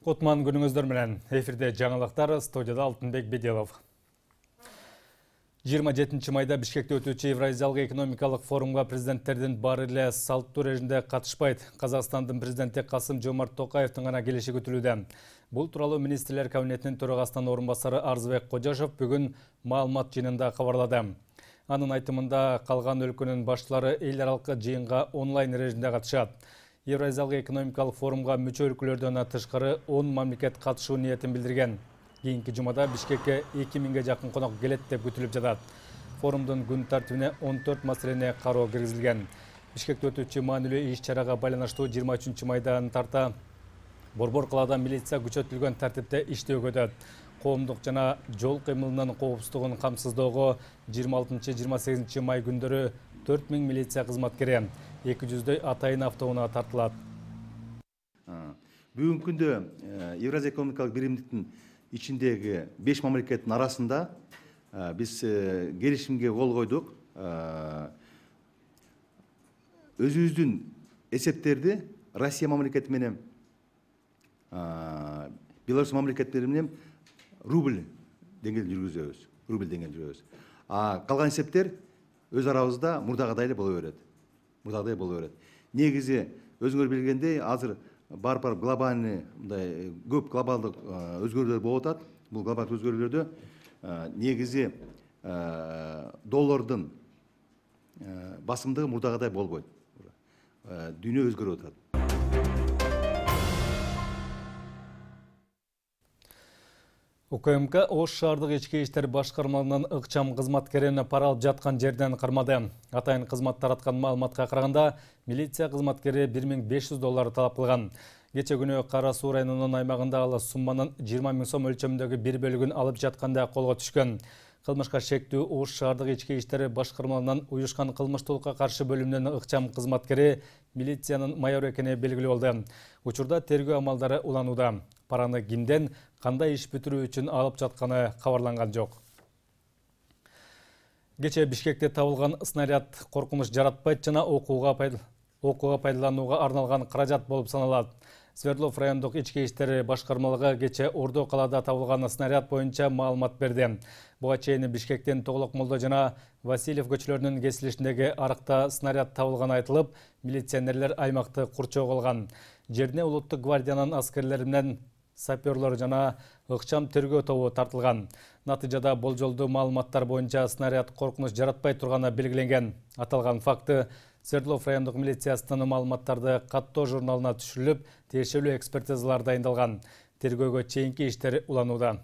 Кутман күнүңүздөр менен. Эфирде жаңылыктар, студияда Алтынбек Беделов. 27 майда Бишкекте өтүүчү Евразиялык экономикалык форумга президенттердин баары эле салттуу режимде катышпайт. Казакстандын президенти Касым-Жомарт Токаевдин гана келиши күтүлүүдө. Бул тууралуу министрлер кабинетинин төрагасынын орун басары Арзыбек Кожашов бүгүн маалымат жыйынында кабарлады. Анын айтымында калган өлкөнүн башчылары эл аралык жыйынга онлайн режимде катышат. Евразиялык экономикалык форумга мүчө өлкөлөрдөн тышкары 10 мамлекет катышуу ниетин билдирген. Кийинки жумада Бишкекке 2000ге жакын конок келет деп күтүлүп жатат. Форумдун күн тартибине 14 маселени кароо киргизилген. Бишкекте өтүүчү маанилүү иш-чарага байланыштуу 23 майдан тарта Борбор калаада милиция күчөтүлгөн тартипте иштөөгө өтөт. Коомдук жана жол кыймылынын коопсуздугун камсыздоого 26-28 май күндөрү 4000 милиция кызматкери 200дөй атайын автоунаа тартылат. Бүгүнкү күндө Евразия экономикалык биримдиктин ичиндеги 5 мамлекеттин арасында биз келишимге кол койдук. Өзүбүздүн эсептерди Россия мамлекети менен Беларусь мамлекеттери менен рубль деңгээлде жүргүзөбүз. Калган эсептер өз арабызда мурдагыдай эле боло берет. Негизи өзүңөр билгендей, азыр бар глобальный мындай көп глобалдык өзгөрүүлөр болуп атат. Бул глобалдык өзгөрүүлөрдө негизи доллардын басымдыгы мурдагыдай болбойт. Дүйнө өзгөрүп атат. УКМК Ош шаардык ички иштер башкармалыгынын ыкчам кызматкерин пара алып жаткан жерден кармады. Атайын кызмат тараткан маалыматка караганда, милиция кызматкери $1500 талап кылган. Кече күнү Кара Суу районунун аймагында ал сумманын 20 000 сом өлчөмүндөгү бир бөлүгүн алып жатканда колго түшкөн. Кылмышка шектүү Ош шаардык ички иштер башкармалыгынын уюшкан кылмыштуулукка каршы бөлүмүнүн ыкчам кызматкери милициянын майору экени белгилүү болду. Учурда тергөө амалдары уланууда. Параны кимден, кандай иш бүтүрүү үчүн алып жатканы кабарланган жок. Кече Бишкекте табылган снаряд коркунуч жаратпайт жана окууга пайдаланууга арналган каражат болуп саналат. Свердлов райондук ички иштер башкармалыгы кече Ордо калаада табылган снаряд боюнча маалымат берди. Буга чейин Бишкектен Тоглок Молдо жана Васильев көчөлөрүнүн кесилишиндеги арыкта снаряд табылганы айтылып, милиционерлер аймакты курчоого алган. Жерине Улуттук гвардиянын аскерлери менен саперлор жана ыкчам тергөө тобу тартылган. Натыйжада болжолдуу маалыматтар боюнча снаряд коркунуч жаратпай турганы белгиленген. Аталган факты Свердлов райондук милициясынын маалыматтарды каттоо журналына түшүрүлүп, тиешелүү экспертизалар дайындалган. Тергөөгө чейинки иштер уланууда.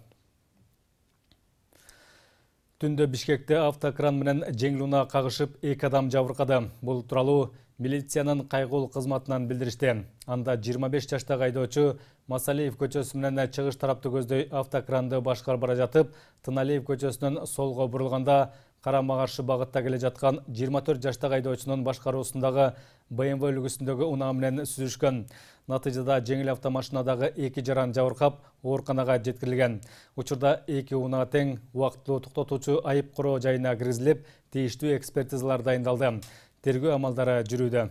Түндө Бишкекте автокран менен жеңил унаа кагышып 2 адам жабыркады. Бул тууралуу милициянын кайгылуу кызматынан билдиришти. Анда 25 жаштагы айдоочу Масалиев көчөсү менен чыгыш тараптуу көздөй автокранды башкарып бара жатып, Тыналиев көчөсүнөн солго бурулганда карама каршы багытта келе жаткан 24 жаштагы айдоочунун башкаруусундагы BMW үлгүсүндөгү унаа менен сүзүшкөн. Натыйжада жеңил автомашинадагы 2 жаран жабыркап, ооруканага жеткирилген. Учурда 2 унаа тең убактылуу токтотуучу айып короо жайына киргизилип, тийиштүү экспертизалар дайындалды. Тергөө амалдары жүрүүдө.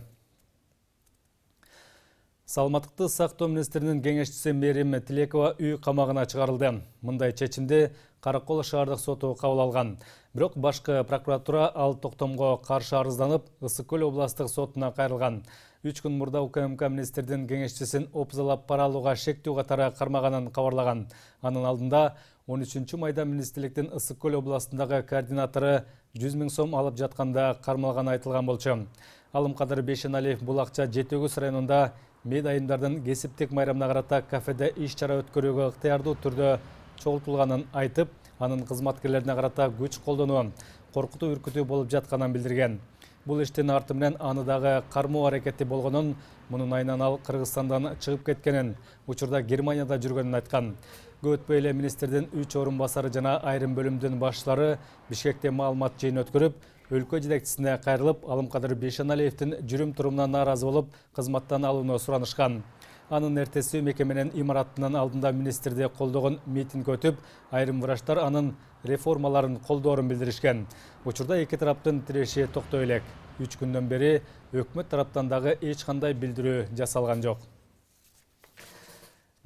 Саламаттыкты сактоо министринин кеңешчиси Мерим Тилекова үй камагына чыгарылды. Мындай чечимди Каракол шаардык соту кабыл алган. Бирок башкы прокуратура ал токтомго каршы арызданып, Ысык Көл областык сотуна кайрылган. 3 күн мурда УКМК министрдин кеңешчисин опузалап пара алууга шектүү катары кармаганын кабарлаган. Анын алдында 13 майда министрликтин Ысык Көл областындагы координатору 100 000 сом алып жатканда кармалганы айтылган болчу. Алымкадыр Бейшеналиев бул акча Жетөгүз районунда мед айымдардын кесиптик майрамына карата кафеде иш-чара өткөрүүгө ыктыярдуу түрдө чогултулганын айтып, анын кызматкерлерине карата күч колдонуу, коркутуу үркүтүү болуп жатканын билдирген. Бул иштин арты менен аны дагы кармоо аракети болгонун, мунун айынан ал Кыргызстандан чыгып кеткенин, учурда Германияда жүргөнүн айткан. Көп өтпөй эле министрдин 3 орун басары жана айрым бөлүмдүн башчылары Бишкекте маалымат жыйын өткөрүп, өлкө жетекчисине кайрылып, Алымкадыр Бейшеналиевдин жүрүм турумуна нааразы болуп, кызматтан алууну суранышкан. Анын эртеси мекеменин имараттынын алдында министрди колдогон митинг өтүп, айрым врачтар анын реформаларын колдоорун билдиришкен. Учурда эки тараптын тиреши токтой элек. 3 күндөн бери өкмөт тараптан дагы эч кандай билдирүү жасалган жок.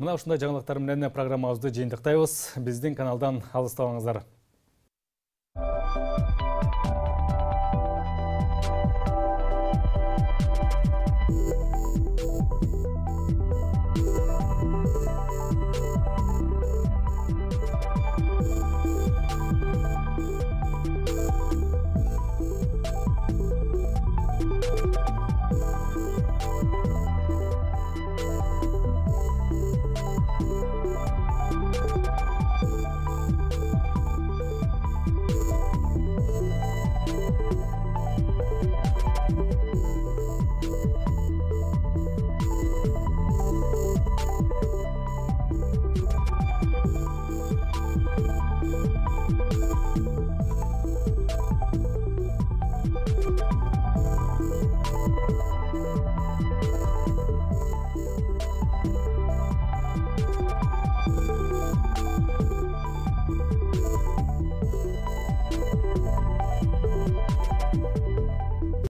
Мына ушундай жаңылыктар менен программабызды жыйынтыктайбыз. Биздин каналдан алыстабаңыздар.